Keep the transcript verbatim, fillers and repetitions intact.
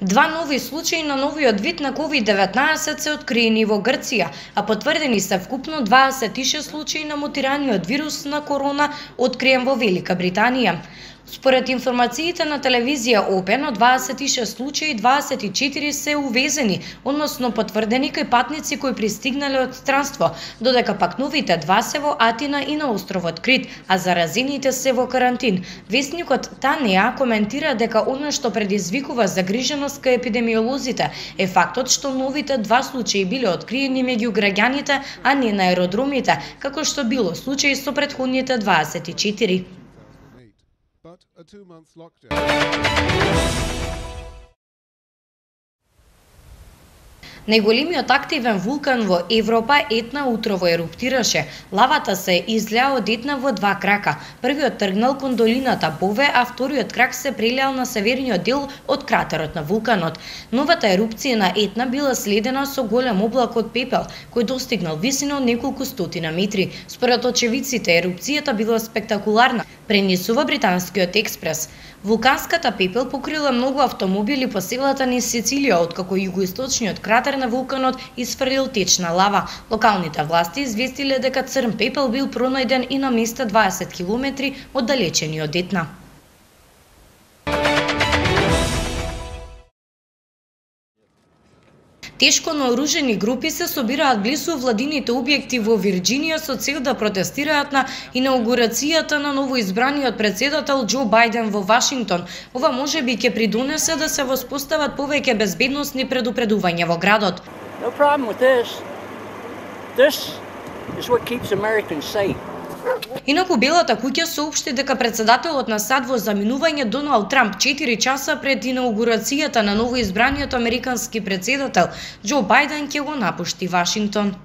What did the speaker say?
Два нови случаи на новиот вид на ковид деветнаесет се откриени во Грција, а потврдени се вкупно дваесет и шест случаи на мутираниот вирус на корона откриен во Велика Британија. Според информациите на телевизија Опен, од дваесет и шест случаи дваесет и четири се увезени, односно потврдени кај патници кои пристигнале од странство, додека пак новите два се во Атина и на островот Крит, а заразените се во карантин. Весникот Танеа коментира дека она што предизвикува загриженост кај епидемиолозите е фактот што новите два случаи биле откриени меѓу граѓаните, а не на аеродромите, како што било случај со претходните дваесет и четири. A two-month lockdown. Најголемиот активен вулкан во Европа Етна утрово еруптираше. Лавата се излеа од Етна во два крака. Првиот тргнал кон долината Бове, а вториот крак се прелеал на северниот дел од кратерот на вулканот. Новата ерупција на Етна била следена со голем облак од пепел, кој достигнал висина од неколку стотина метри. Според очевидците, ерупцијата била спектакуларна, пренесува британскиот експрес. Вулканската пепел покрила многу автомобили по селата низ Сицилија, откако југоисточниот кратер на вулканот изфрлил течна лава. Локалните власти известиле дека црн пепел бил пронајден и на место дваесет километри оддалечени од Етна. Тешко наоружени групи се собираат близу владините објекти во Вирџинија со цел да протестираат на инаугурацијата на новоизбраниот председател Џо Бајден во Вашингтон. Ова можеби ќе придонесе да се воспостават повеќе безбедносни предупредувања во градот. No problem with this. This is what keeps Americans safe. Инаку Белата куќа соопшти дека председателот на САД во заминување Доналд Трамп четири часа пред инаугурацијата на новоизбраниот американски председател Џо Бајден ќе го напушти Вашингтон.